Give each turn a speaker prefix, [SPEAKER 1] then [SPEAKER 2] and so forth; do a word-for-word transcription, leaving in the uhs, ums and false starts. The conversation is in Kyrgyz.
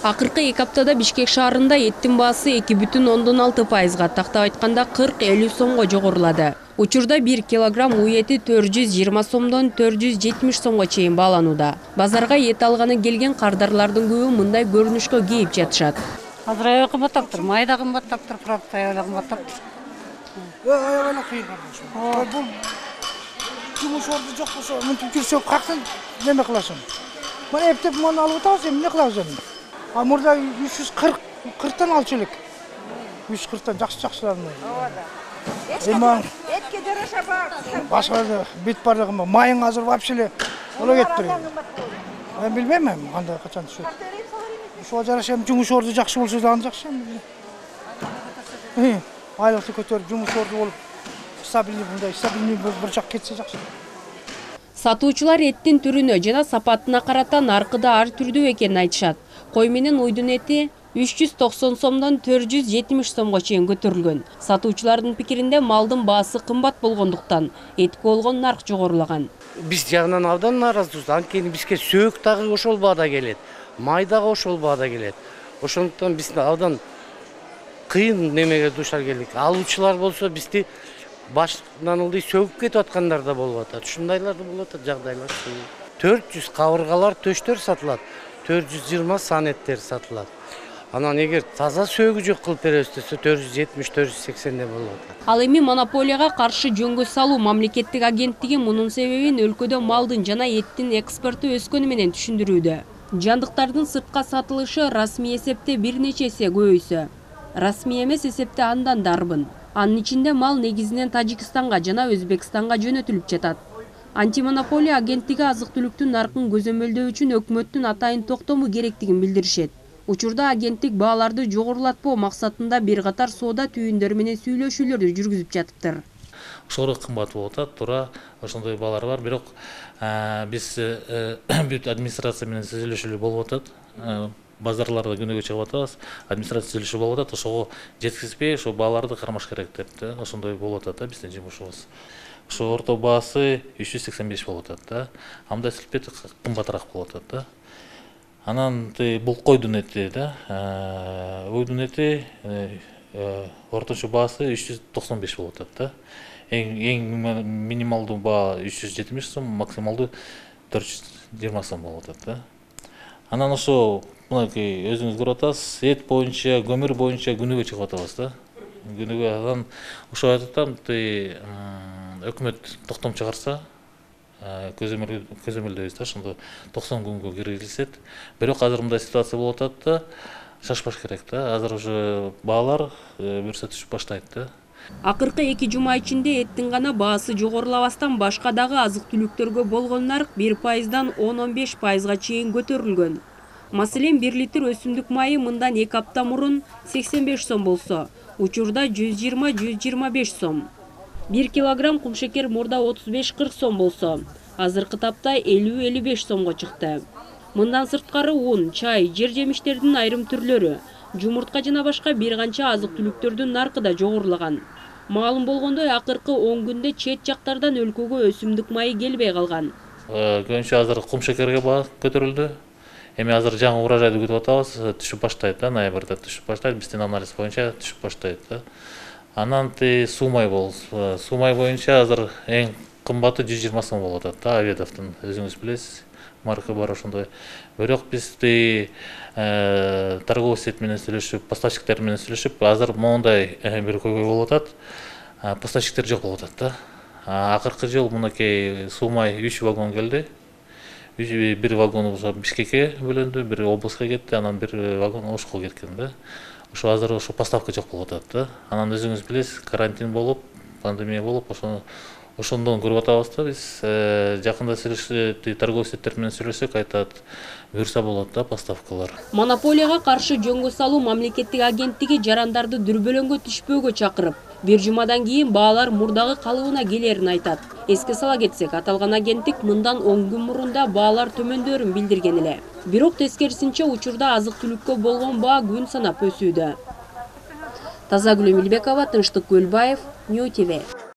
[SPEAKER 1] Акыркы эки аптада Бишкек шаарында эттин баасы эки бүтүн ондон алты пайызга, тактап айтканда кырк элүү сомго жогорулады. Учурда бир килограмм уу эти төрт жүз жыйырма сомдон төрт жүз жетимиш сомго чейин бааланууда. Базарга эт алганы келген кардарлардын көбү мындай көрүнүшкө кейип жатышат.
[SPEAKER 2] Азыр аябай кымбаттаптыр, май да кымбаттаптыр, продукт аябай кымбаттаптыр.
[SPEAKER 3] Аябай кыйын карашым. Бул жумуш орду жок болсо, мынтип жүрсөк кактан неме кыласың? Мына эптеп муну алып атабыз, эмне кылабыз эми? А мурда үч жүз кырк кырктан алчу элек. үч жүз кырктан жакшы-жакшыларын. Ооба. Эми этке жараша бар. Башка бит бардыгы майың азыр вообще эле ола кетти. Мен билбейм эми кандай качан түшөт. Ошого жараша эми жумуш орду жакшы болсо дагы жакшы эми. Айлыкты көтөрүп жумуш орду болуп, стабилдүү мындай стабилдүү бир жак кетсе жакшы.
[SPEAKER 1] Сатуучулар эттин түрүнө жана сапатына карата наркыда ар түрдүү экенин айтышат. Кой менен уйдун эти үч жүз токсон сомдон төрт жүз жетимиш сомго чейин көтөрүлгөн. Сатуучулардын пикиринде малдын баасы кымбат болгондуктан этке болгон нарк жогорулаган.
[SPEAKER 4] Биз жагынан абдан нааразыбыз. Анткени бизге сөөк дагы ошол баада келет, май дагы ошол баада келет. Ошондуктан биз абдан кыйын немеге душар келдик. Алуучулар болсо бизди башынан ылдый сөгүп кетип аткандар да болуп атат. Ушундайлар да болуп атат жагдайлар. төрт жүз кабыргалар, төштөр сатылат. төрт жүз жыйырма санеттер сатылат. Анан эгер таза сөөгү жок кылып беребиз десе төрт жүз жетимиш төрт жүз сексендей болуп атат.
[SPEAKER 1] Ал эми монополияга каршы жөнгө салуу мамлекеттик агенттиги мунун себебин өлкөдө малдын жана эттин экспорту өскөнү менен түшүндүрүүдө. Жандыктардын сыртка сатылышы расмий эсепте бир нече эсе көбөйсө, расмий эмес эсепте андан да арбын. Анын ичинде мал негизинен Тажикстанга жана Өзбекстанга жөнөтүлүп жатат. Антимонополия агенттиги азык-түлүктүн наркын көзөмөлдөө үчүн өкмөттүн атайын токтому керектигин билдиришет. Учурда агенттик бааларды жогорулатпоо максатында бир катар соода түйүндөрү менен сүйлөшүүлөрдү жүргүзүп жатыптыр.
[SPEAKER 5] Ошого кымбат болуп атат, туура ошондой баалар бар, бирок биз бүт администрация менен сүйлөшүүлөр болуп атат. Базарларда күнөөгө чыгып атабыз, администрация сүйлөшүү болуп атат, ошого жеткизбей, ошо бааларды кармаш керек деп, ошондой болуп атат да биздин жумушубуз. Ошо орто баасы үч жүз сексен беш болуп атат да. Анда силпет кымбатыраак болуп атат да. Анан бул койдун эти да, уйдун эти орточо баасы үч жүз токсон беш болуп атат да. Эң эң минималдуу баа үч жүз жетимиш сом, максималдуу төрт жүз жыйырма сом болуп атат да. Анан ошо мынакей өзүңүз көрүп атасыз, эт боюнча, көмүр боюнча күнүгө чыгып атабыз да. Күнүгө анан ошо айтаттам, өкмөт токтом чыгарса, көзөмөлдөйбүз да, ошондо токсон күнгө киргизилсет. Бирок азыр мындай ситуация болуп атат да, шашпаш керек да. Азыр уже баалар буюрса түшүп баштайт да.
[SPEAKER 1] Акыркы эки жума ичинде эттин гана баасы жогорулабастан башка дагы азык-түлүктөргө болгон нарк бир пайыздан он он беш пайызга чейин көтөрүлгөн. Маселен, бир литр өсүмдүк майы мындан эки апта мурун сексен беш сом болсо, учурда жүз жыйырма жүз жыйырма беш сом. бир килограмм кумшекер мурда отуз беш кырк сом болсо, азыркы тапта элүү элүү беш сомго чыкты. Мындан сырткары un, чай, жер жемиштердин айрым түрлөрү, жумуртка жана башка бир канча азык-түлүктөрдүн наркы да жогорулаган. Маалым болгондой, акыркы он күндө чет жактардан өлкөгө өсүмдүк майы келбей калган.
[SPEAKER 5] Көбүнчө азыр кумшекерге баа көтөрүлдү. Эми азыр жаңы урожайды күтүп атабыз, түшүп баштайт да, ноябрда түшүп баштайт, биздин анализ боюнча түшүп баштайт да. Анан суу май болсо, суу май боюнча азыр эң кымбаты жүз жыйырма сом болуп атат да, Аведовдун, өзүңүз билесиз, марка бар ошондой. Бирок биз торговый сет менен сүйлөшүп, поставщиктер менен сүйлөшүп, азыр моундай бир көйгөй болуп атат. Поставщиктер жок болуп атат да. Акыркы жыл мынакей суу май үч вагон келди. Бир вагон Бишкекке бөлөндү, бир облуска кетти, анан бир вагон Ошко кеткен да. Ошо азыр ошо поставка жок болуп атат да. Анан өзүңүз билесиз, карантин болуп, пандемия болуп, ошону ошондон көрүп атабыз да биз. Жакында сүйлөшүп, торговый сеттер менен сүйлөшсөк, айтат, буюрса болот да поставкалар.
[SPEAKER 1] Монополияга каршы жөнгө салуу мамлекеттик агенттиги жарандарды дүрбөлөңгө түшпөөгө чакырып, бир жумадан кийин баалар мурдагы калыбына келерин айтат. Эске сала кетсек, аталган агенттик мындан он күн мурун да баалар төмөндөрүн билдирген эле. Бирок тескерисинче учурда азык-түлүккө болгон баа күн санап өсүүдө. Тазагүл Эмилбекова, Тынчтык Көлбаев, Нью ти ви.